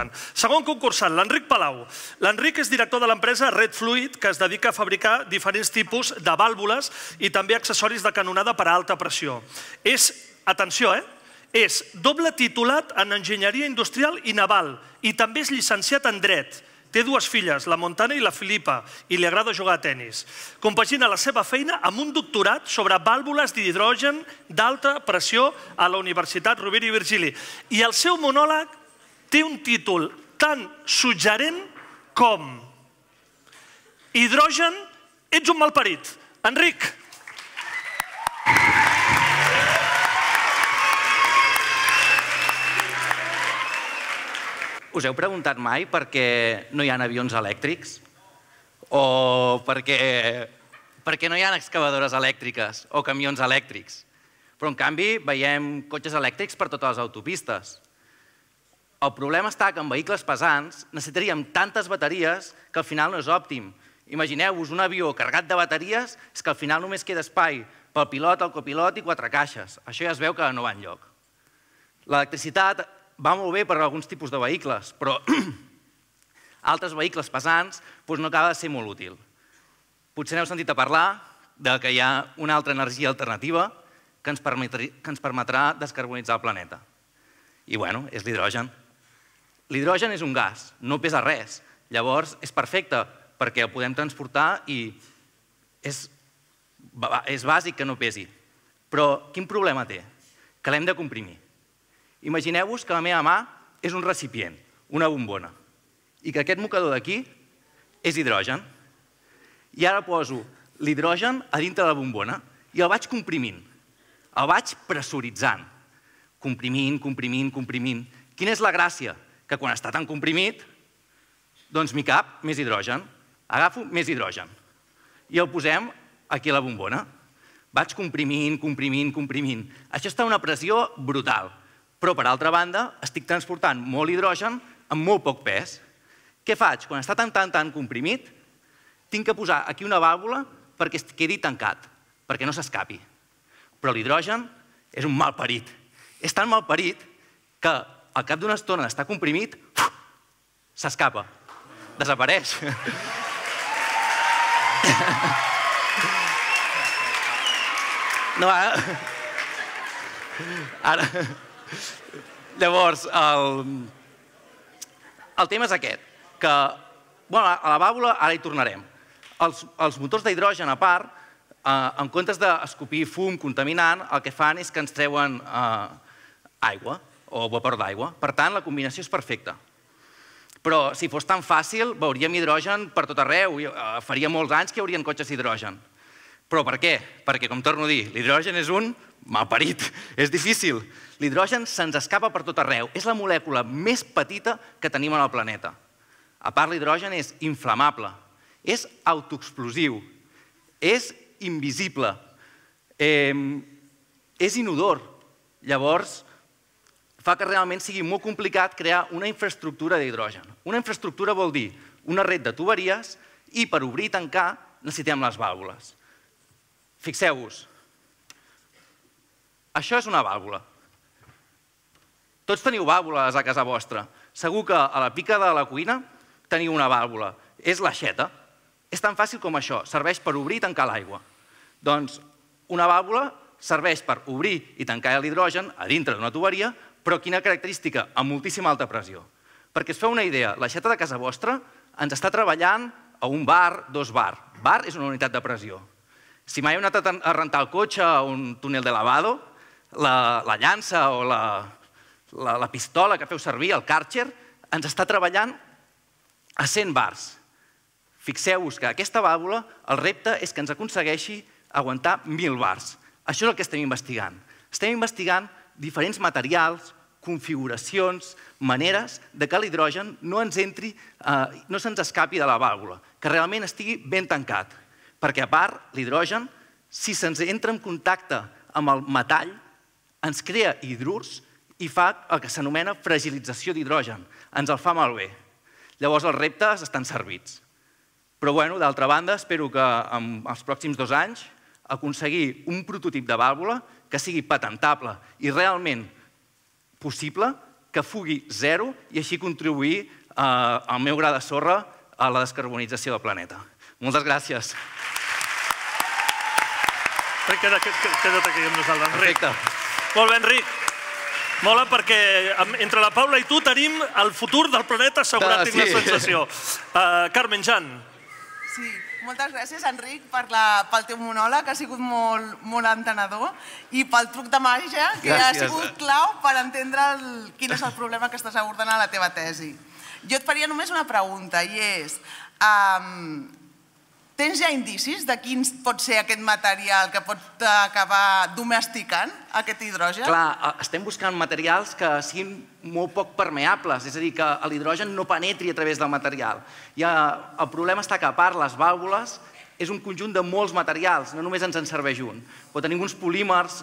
important. Segon concursant, l'Enric Palau. L'Enric és director de l'empresa Red Fluid, que es dedica a fabricar diferents tipus de vàlvules i també accessoris de canonada per a alta pressió. És, atenció, és doble titulat en enginyeria industrial i naval i també és llicenciat en dret. Té dues filles, la Montana i la Filipa, i li agrada jugar a tenis. Compagina la seva feina amb un doctorat sobre vàlvules d'hidrogen d'alta pressió a la Universitat Rovira i Virgili. I el seu monòleg té un títol tan suggerent com Hidrogen, ets un malparit. Enric. Us heu preguntat mai per què no hi ha avions elèctrics? O per què no hi ha excavadores elèctriques o camions elèctrics? Però, en canvi, veiem cotxes elèctrics per totes les autopistes. El problema està que en vehicles pesants necessitaríem tantes bateries que al final no és òptim. Imagineu-vos un avió carregat de bateries, és que al final només queda espai pel pilot, el copilot i 4 caixes. Això ja es veu que no va enlloc. L'electricitat va molt bé per a alguns tipus de vehicles, però altres vehicles pesants no acaba de ser molt útil. Potser n'heu sentit a parlar que hi ha una altra energia alternativa que ens permetrà descarbonitzar el planeta. I, bueno, és l'hidrogen. L'hidrogen és un gas, no pesa res. Llavors, és perfecte perquè el podem transportar i és bàsic que no pesi. Però quin problema té? Que l'hem de comprimir. Imagineu-vos que la meva mà és un recipient, una bombona, i que aquest mocador d'aquí és hidrogen. I ara poso l'hidrogen a dintre de la bombona i el vaig comprimint, el vaig pressuritzant. Comprimint, comprimint, comprimint. Quina és la gràcia? Que quan està tan comprimit, doncs m'hi cap més hidrogen. Agafo més hidrogen i el posem aquí a la bombona. Vaig comprimint, comprimint, comprimint. Això està a una pressió brutal. Però, per altra banda, estic transportant molt hidrogen amb molt poc pes. Què faig? Quan està tan comprimit, tinc que posar aquí una vàlvula perquè es quedi tancat, perquè no s'escapi. Però l'hidrogen és un malparit. És tan malparit que al cap d'una estona d'estar comprimit, s'escapa, desapareix. Ara... Llavors, el tema és aquest, que a la vàlvula ara hi tornarem. Els motors d'hidrogen, a part, en comptes d'escopir fum contaminant, el que fan és que ens treuen aigua o vapor d'aigua. Per tant, la combinació és perfecta. Però si fos tan fàcil, veuríem hidrogen per tot arreu. Faria molts anys que hi haurien cotxes d'hidrogen. Però per què? Perquè, com torno a dir, l'hidrogen és un malparit. És difícil. L'hidrogen se'ns escapa per tot arreu. És la molècula més petita que tenim en el planeta. A part, l'hidrogen és inflamable, és autoexplosiu, és invisible, és inodor. Llavors, fa que realment sigui molt complicat crear una infraestructura d'hidrogen. Una infraestructura vol dir una red de tuberies i per obrir i tancar necessitem les vàlvules. Fixeu-vos, això és una vàlvula. Tots teniu vàlvules a casa vostra. Segur que a la pica de la cuina teniu una vàlvula. És l'aixeta. És tan fàcil com això. Serveix per obrir i tancar l'aigua. Doncs una vàlvula serveix per obrir i tancar l'hidrogen a dintre d'una tuberia, però quina característica? Amb moltíssima alta pressió. Perquè es feu una idea, l'aixeta de casa vostra ens està treballant a un bar, 2 bar. Bar és una unitat de pressió. Si mai heu anat a rentar el cotxe a un túnel de lavado, la llança o la pistola que feu servir, el Karcher, ens està treballant a 100 bars. Fixeu-vos que aquesta vàlvula, el repte és que ens aconsegueixi aguantar 1.000 bars. Això és el que estem investigant. Estem investigant diferents materials, configuracions, maneres de que l'hidrogen no ens entri, no se'ns escapi de la vàlvula, que realment estigui ben tancat. Perquè, a part, l'hidrogen, si se'ns entra en contacte amb el metall, ens crea hidrurs i fa el que s'anomena fragilització d'hidrogen. Ens el fa malbé. Llavors, els reptes estan servits. Però, d'altra banda, espero que en els pròxims 2 anys aconseguir un prototip de vàlvula que sigui patentable i realment possible que fugui zero i així contribuir al meu gra de sorra a la descarbonització del planeta. Moltes gràcies. Queda't aquí amb nosaltres, Enric. Perfecte. Molt bé, Enric. Mola perquè entre la Paula i tu tenim el futur del planeta assegurat, tinc la sensació. Carmen, Jan. Sí, moltes gràcies, Enric, pel teu monòleg, que ha sigut molt entenedor, i pel truc de màgia, que ha sigut clau per entendre quin és el problema que estàs abordant a la teva tesi. Jo et faria només una pregunta, i és... Tens ja indicis de quin pot ser aquest material que pot acabar domesticant aquest hidrogen? Clar, estem buscant materials que siguin molt poc permeables, és a dir, que l'hidrogen no penetri a través del material. El problema està que, a part, les vàlvules és un conjunt de molts materials, no només ens en serveix un. Però tenim uns polímers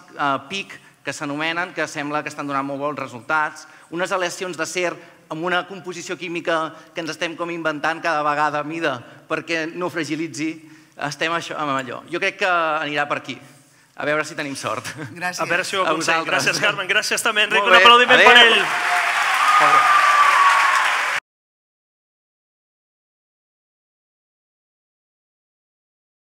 PIC que s'anomenen, que sembla que estan donant molt bons resultats, unes aleacions d'acer amb una composició química que ens estem com inventant cada vegada a mida perquè no fragilitzi, estem amb allò. Jo crec que anirà per aquí. A veure si tenim sort. Gràcies. A veure si ho aconseguim. Gràcies, Carmen. Gràcies també, Enric. Molt Un bé. aplaudiment per Adéu. ell.